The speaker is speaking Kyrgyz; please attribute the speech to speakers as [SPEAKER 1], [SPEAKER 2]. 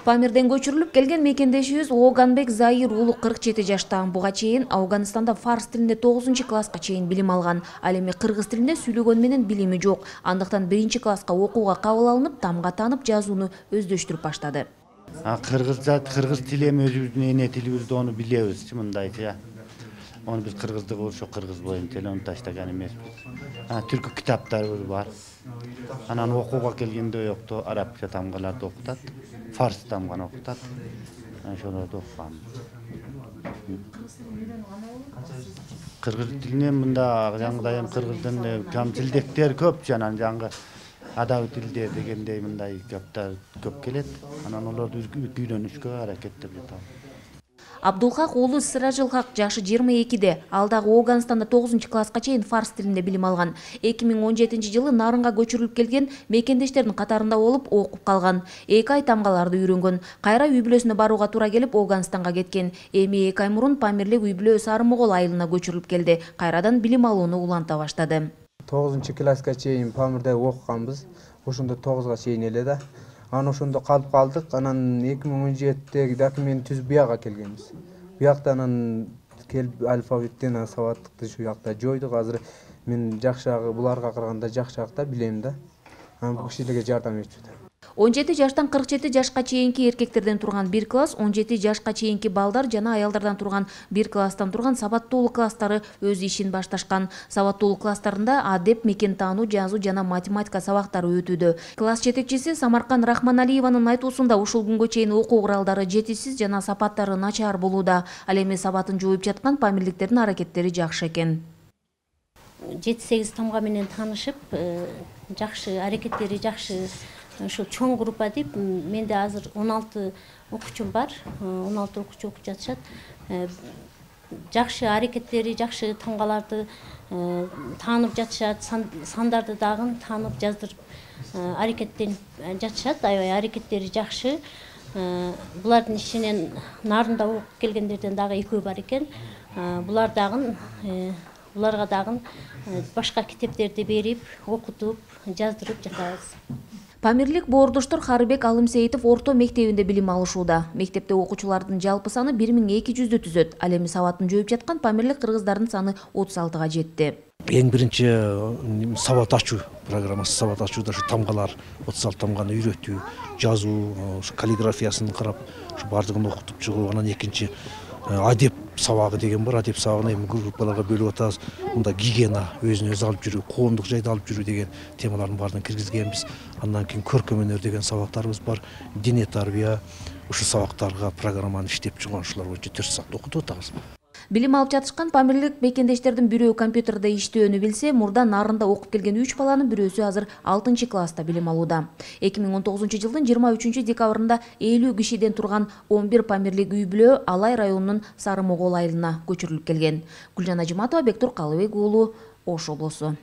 [SPEAKER 1] Памирден көчүрүлүп келген мекендешибиз Ооганбек Заир уулу 47 жашта. Буга чейин Афганистанда фарс тилинде 9-класска чейин билим алган. Ал эми кыргыз тилинде сүйлөгөнү менен билими жок. Андыктан 1-класска окууга кабыл алынып, тамга танып жазууну өздөштүрүп баштады.
[SPEAKER 2] Кыргыз тили эми өзүбүздүн эне тилибиз, ону билебиз, мындайча. Onu biz kırgızdık oluşu kırgız boyunca onu taştagan emesmiz. Türkü kitaplarımız var. Anan okuğa kelgende yoktu. Arapça tamgalarda okutat. Fars tamganı okutat. Şolarda okugan. Kırgız tiline mında жаңгыдайым кыргыздын камчылдыктар көп жанан жаңгы адаби тилде дегендей мындай китаптар көп келет. Анан олорду үйрөнүшкө аракеттеп жатам.
[SPEAKER 1] Абдулхак уулу Сыражылхак жашы 22-де. Ал дагы Ооганстанда 9-класска чейин фарс тилинде билим алган. 2017-жылы Нарынга көчүрүлүп келген мекендештердин катарында болуп окуп калган. 2 ай тамгаларды үйрөнгөн. Кайра үй бүлөсүнө барууга туура келип Ооганстанга кеткен. Эми 2 ай мурун Памирлик үй бүлө Сарымогол айылына көчүрүлүп келди. Кайрадан билим алууну уланта баштады.
[SPEAKER 3] 9-класска чейин Памирде окуганбыз. Ошондо 9га чейин эле да. Анан ошондо калып калдык. Анан 2017-деги документ түзүп бияга келгенбиз. Биякта анан келип алфавиттен сабаттыкты ушу жакта жойдук. Азыр мен жакшыраак буларга караганда жакшыраак да билем да. Анан бул кишилерге жардам этип жатам.
[SPEAKER 1] 17 жаштан 47 жашка чейинки эркектерден турган 1 класс, 17 жашка чейинки балдар жана аялдардан турган 1 класстан турган сабаттуулук класстары өз ишин башташкан. Сабаттуулук класстарында адеп, мекен таануу, жазуу жана математика сабактары өтүүдө. Класс жетекчиси Самаркан Рахманалиеванын айтуусунда ушул күнгө чейин окуу куралдары жетишсиз жана сапаттары начар болууда. Ал эми сабатын жууп жаткан памирликтердин аракеттери жакшы экен.
[SPEAKER 4] 7-8 тамга менен таанышып, жакшы аракеттери жакшы. Ошо чоң группа деп, менде азыр 16 окуучум бар. 16 окуучу окуп жатышат. Жакшы аракеттери, жакшы тамгаларды таанып жатышат, сандарды дагы таанып жаздырып аракеттенип жатышат. Аябай аракеттери жакшы. Булардын ичинен Нарында окуп келгендерден дагы экөө бар экен. Буларга дагы башка китептерди берип, окутуп, жаздырып жатабыз.
[SPEAKER 1] Памирлик боордоштор Харыбек Алымсейитов орто мектебинде билим алышууда. Мектепте окуучулардын жалпы саны 1200-дү түзөт. Ал эми сабатын жөөп жаткан памирлик кыргыздардын саны 36-га жетти.
[SPEAKER 5] Эң биринчи сабат ачуу программасы, сабат ачууда ушу тамгалар, 36 тамганы үйрөтүү, жазуу, каллиграфиясын карап, ушу бардыгын окутуп чыгуу. Анан экинчи адеп сабагы деген бар. Адеп сабагын эми группаларга бөлүп атабыз. Мында гигиена, өзүн өзү алып жүрүү, коомдук жайда алып жүрүү деген темалардын баарын киргизгенбиз. Андан кийин көркөм өнөр деген сабактарыбыз бар. Дине тарбия, ушу сабактарга программаны иштеп чыгып, ушулар боюнча 4 саат окутуп атабыз.
[SPEAKER 1] Билим алып жатышкан памирлик мекендештердин бирөө компьютерде иштөөнү билсе, мурда Нарында окуп келген 3 баланын бирөөсү азыр 6-класста билим алууда. 2019-жылдын 23-декабрында 50 кишиден турган 11 памирлик үй бүлө Алай районунун Сарымогол айылына көчүрүлүп келген. Гүлжан Ажыматова, Бектур Калыбек уулу, Ош облусу.